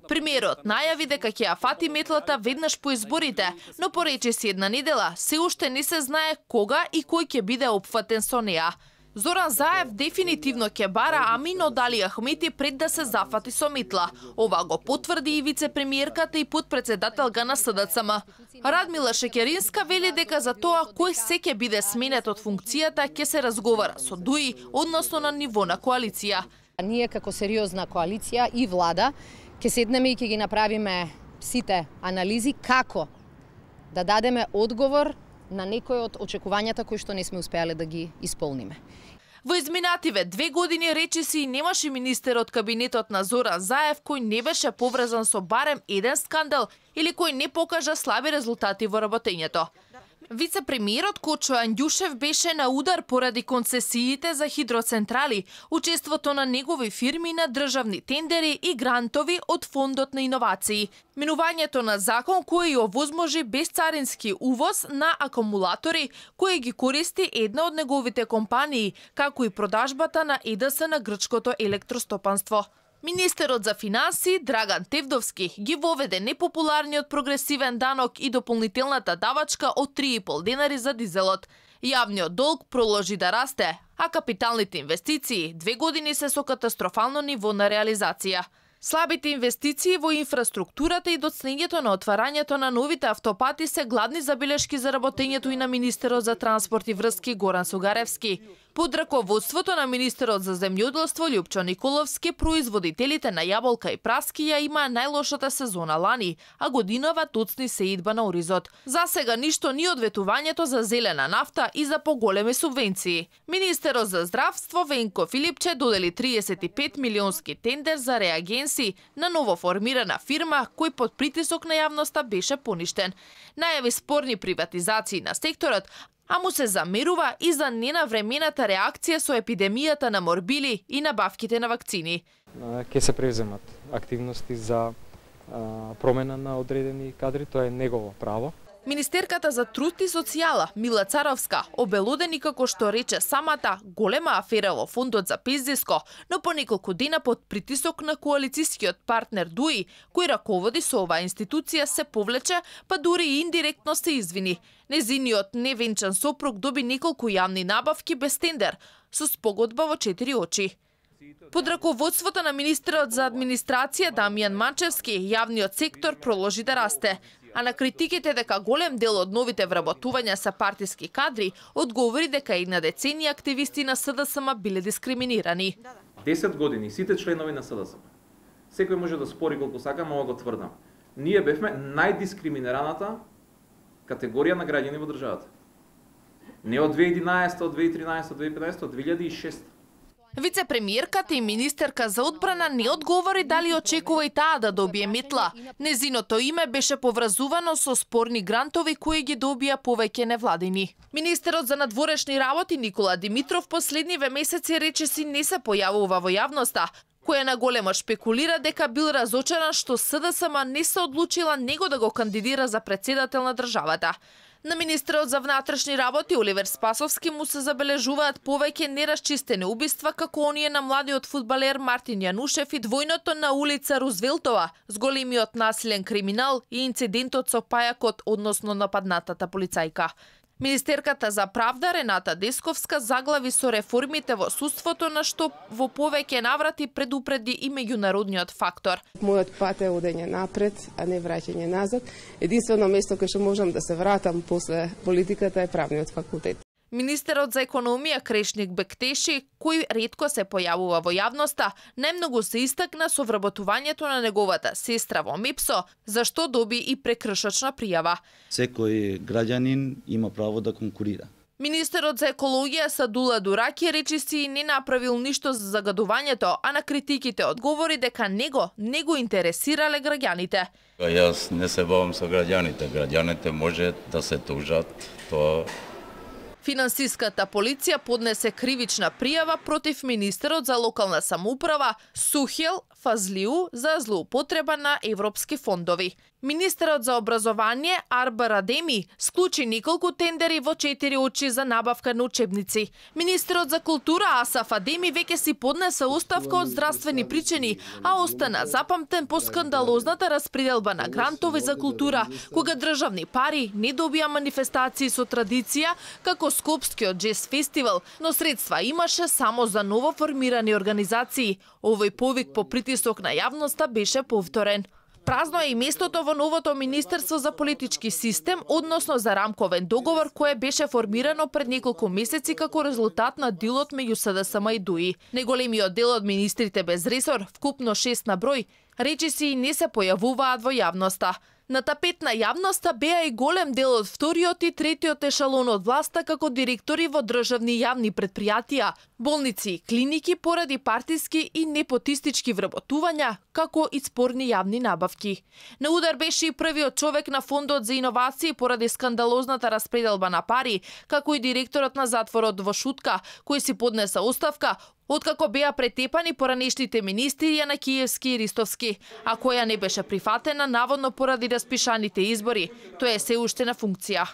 Премиерот најави дека ќе ја фати метлата веднаш по изборите, но по речиси една недела се уште не се знае кога и кој ќе биде опфатен со неа. Зоран Заев дефинитивно ќе бара Амин од Али Ахмети пред да се зафати со метла. Ова го потврди и вице-премиерката и подпредседателка на СДСМ. Радмила Шекеринска вели дека за тоа кој се ќе биде сменет од функцијата ќе се разговара со ДУИ, односно на ниво на коалиција. Ние како сериозна коалиција и влада ќе седнеме и ќе ги направиме сите анализи како да дадеме одговор на некој од очекувањата кои што не сме успеале да ги исполниме. Во изминативе 2 години речиси немаше министер од кабинетот на Зоран Заев кој не беше поврзан со барем еден скандал или кој не покажа слаби резултати во работењето. Вице-премиерот Кочо Андјушев беше на удар поради концесиите за хидроцентрали, учеството на негови фирми на државни тендери и грантови од Фондот на иновации. Менувањето на закон кој овозможи безцарински увоз на акумулатори кои ги користи една од неговите компании, како и продажбата на ЕДС на грчкото електростопанство. Министерот за финансии Драган Тевдовски ги воведе непопуларниот прогресивен данок и дополнителната давачка од 3,5 денари за дизелот. Јавниот долг проложи да расте, а капиталните инвестиции 2 години се со катастрофално ниво на реализација. Слабите инвестиции во инфраструктурата и доцнењето на отварањето на новите автопати се гладни забелешки за работењето и на министерот за транспорт и врски Горан Сугаревски. Под раководството на министерот за земјоделство Љупчо Николовски, производителите на јаболка и праски ја имаа најлошата сезона лани, а годинава туцни се идба на оризот. За сега ништо ни од ветувањето за зелена нафта и за поголеми субвенции. Министерот за здравство Венко Филипче додели 35 милионски тендер за реагенси на новоформирана фирма кој под притисок на јавноста беше поништен. Најави спорни приватизации на секторот, а му се замерува и за ненавремената реакција со епидемијата на морбили и набавките на вакцини. Ке се превземат активности за промена на одредени кадри, тоа е негово право. Министерката за труд и социјала Мила Царовска обелодени како што рече самата голема афера во фондот за пензиско, но по неколку дена под притисок на коалицијскиот партнер ДУИ, кој раководи со оваа институција, се повлече, па дури и индиректно се извини. Незиниот невенчан сопруг доби неколку јавни набавки без тендер, со спогодба во 4 очи. Под раководството на министерот за администрација Дамјан Манчевски, јавниот сектор проложи да расте, а на критиките дека голем дел од новите вработувања се партиски кадри, одговори дека една деценија активисти на СДСМ биле дискриминирани. 10 години сите членови на СДСМ. Секој може да спори колку сака, но го тврдам. Ние бевме најдискриминираната категорија на граѓани во државата. Не од 2011, од 2013, од 2015, од 2006. Вице-премиерката и министерка за одбрана не одговори дали очекува и таа да добие метла. Незиното име беше поврзувано со спорни грантови кои ги добија повеќе невладини. Министерот за надворешни работи Никола Димитров последниве месеци речиси не се појавува во јавноста, која наголемо шпекулира дека бил разочаран што СДСМ не се одлучила него да го кандидира за претседател на државата. На министерот за внатрешни работи Оливер Спасовски му се забележуваат повеќе нерасчистени убиства како оние на младиот фудбалер Мартин Јанушев и двојното на улица Рузвелтова, с големиот насилен криминал и инцидентот со пајакот, односно нападнатата полицајка. Министерката за правда Рената Десковска заглави со реформите во судството, на што во повеќе наврати предупреди и меѓународниот фактор. Мојот пат е одење напред, а не враќање назад. Единствено место кај што можам да се вратам после политиката е правниот факултет. Министерот за економија Крешник Бектеши, кој ретко се појавува во јавноста, најмногу се истакна со вработувањето на неговата сестра во МЕПСО, за што доби и прекршочна пријава. Секој граѓанин има право да конкурира. Министерот за екологија Садула Дураки речиси не направил ништо за загадувањето, а на критиките одговори дека него не го интересирале граѓаните. Јас не се бавам со граѓаните. Граѓаните може да се тужат, тоа. Финансиската полиција поднесе кривична пријава против министерот за локална самоуправа Сухел Фазлиу за злоупотреба на европски фондови. Министерот за образование Арба Радеми склучи неколку тендери во 4 очи за набавка на учебници. Министерот за култура Асаф Адеми веќе си поднесе оставка од здравствени причини, а остана запамтен по скандалозната распределба на грантови за култура, кога државни пари не добија манифестации со традиција, како Скопскиот джез фестивал, но средства имаше само за ново формирани организации. Овој повик по притисок на јавноста беше повторен. Празно е и местото во новото Министерство за политички систем, односно за рамковен договор, кое беше формирано пред неколку месеци како резултат на дилот меѓу СДСМ и ДУИ. Неголемиот дел од министрите без ресор, вкупно 6 на број, речиси не се појавуваат во јавноста. На тапет на јавноста беа и голем дел од вториот и третиот ешалон од власта како директори во државни јавни предпријатија, болници и клиники поради партиски и непотистички вработувања, како и спорни јавни набавки. На удар беше и првиот човек на Фондот за иновации поради скандалозната распределба на пари, како и директорот на затворот во Шутка, кој си поднесе оставка, откако беа претепани поранешните министри Јанакиевски и Ристовски, а која не беше прифатена наводно поради распишаните избори. Тој е се уште на функција.